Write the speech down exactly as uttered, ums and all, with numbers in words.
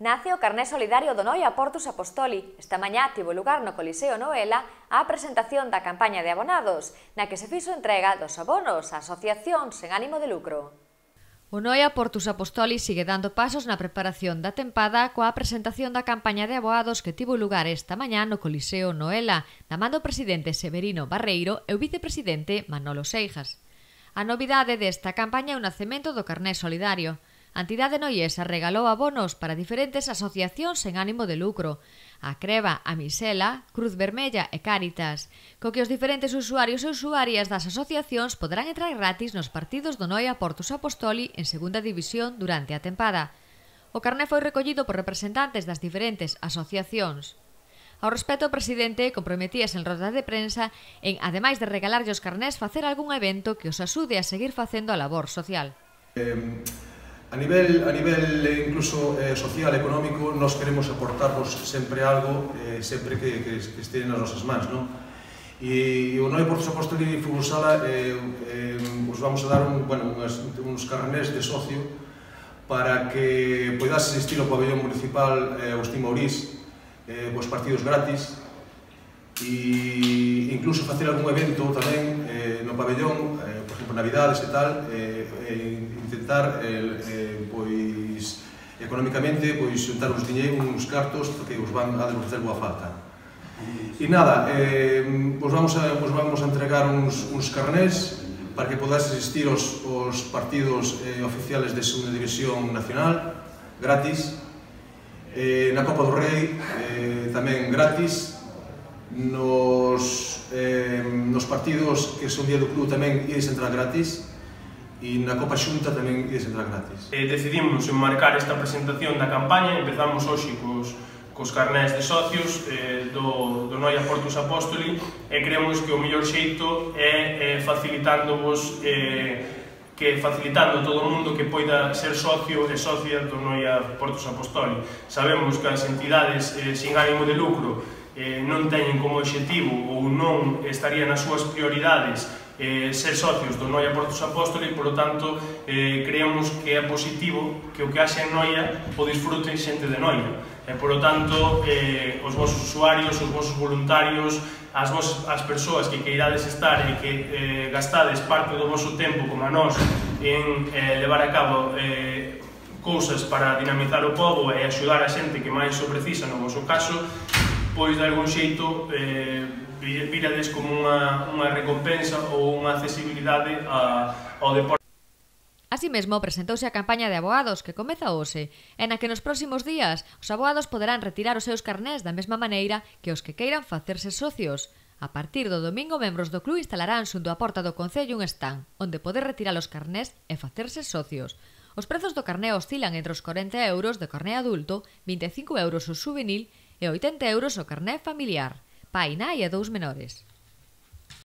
Nace o Carné Solidario do Noia Portus Apostoli. Esta mañá tivo lugar no Coliseo Noela a presentación da campaña de abonados, na que se fixo entrega dos abonos a asociacións sen ánimo de lucro. O Noia Portus Apostoli sigue dando pasos na preparación da tempada coa presentación da campaña de aboados que tivo lugar esta mañá no Coliseo Noela, da man do presidente Severino Barreiro e o vicepresidente Manolo Seijas. A novidade desta campaña é o nacemento do Carné Solidario. A entidade noiesa regalou abonos para diferentes asociacións sen ánimo de lucro, a Creva, a Misela, Cruz Vermella e Cáritas, co que os diferentes usuarios e usuarias das asociacións poderán entrar gratis nos partidos do Noia Portus Apostoli en segunda división durante a tempada. O carné foi recollido por representantes das diferentes asociacións. Ao respecto, o presidente comprometíase en roda de prensa en, ademais de regalarlle os carnés, facer algún evento que os axude a seguir facendo a labor social. Eh... A nivel, a nivel incluso eh, social, económico, nos queremos aportarvos sempre algo, eh, sempre que, que, que este nas nosas mans, non? E o Noia Portus Apostoli Fútbol Sala eh, eh, os vamos a dar un, bueno, unos, uns carnés de socio para que poidas asistir ao pabellón municipal eh, Agustín Mauriz, eh, os partidos gratis, e incluso facer algún evento tamén eh, no pabellón, eh, por exemplo, Navidades e tal, eh, eh, intentar eh, eh, pois económicamente pois xuntar uns diñeiros, uns cartos que os van a facer boa falta. E nada, eh, vos vamos a vos vamos a entregar uns uns carnés para que podades asistir aos os partidos eh, oficiales de segunda división nacional gratis. Eh, na Copa do Rei eh, tamén gratis. Nos, eh, nos partidos que son día do club tamén ides entrar gratis e na Copa Xunta tamén ides entrar gratis. Eh, decidimos enmarcar esta presentación da campaña, empezamos hoxe cos, cos carnés de socios eh, do, do Noia Portus Apostoli e creemos que o mellor xeito é eh, facilitándovos eh, que facilitando a todo o mundo que poida ser socio e socia do Noia Portus Apostoli. Sabemos que as entidades eh, sin ánimo de lucro Eh, non teñen como obxectivo ou non estaría nas súas prioridades eh, ser socios do Noia Portus Apostoli e, por lo tanto, eh, creemos que é positivo que o que haxe en Noia o disfruten xente de Noia. E, por lo tanto, eh, os vosos usuarios, os vosos voluntarios, as, vos, as persoas que queirades estar e que eh, gastades parte do voso tempo, como a nós, en eh, levar a cabo eh, cousas para dinamizar o pobo e axudar a xente que máis o precisa, no vosso caso, pois de algún xeito eh, virades como unha, unha recompensa ou unha accesibilidade a, ao deporte. Así mesmo, presentouse a campaña de aboados que comeza hoxe, e na que nos próximos días os aboados poderán retirar os seus carnés da mesma maneira que os que queiran facerse socios. A partir do domingo, membros do club instalarán xunto á porta do Concello un stand, onde poder retirar os carnés e facerse socios. Os prezos do carné oscilan entre os corenta euros de carné adulto, vinte e cinco euros o juvenil e oitenta euros o carné familiar, pai, nai e dous menores.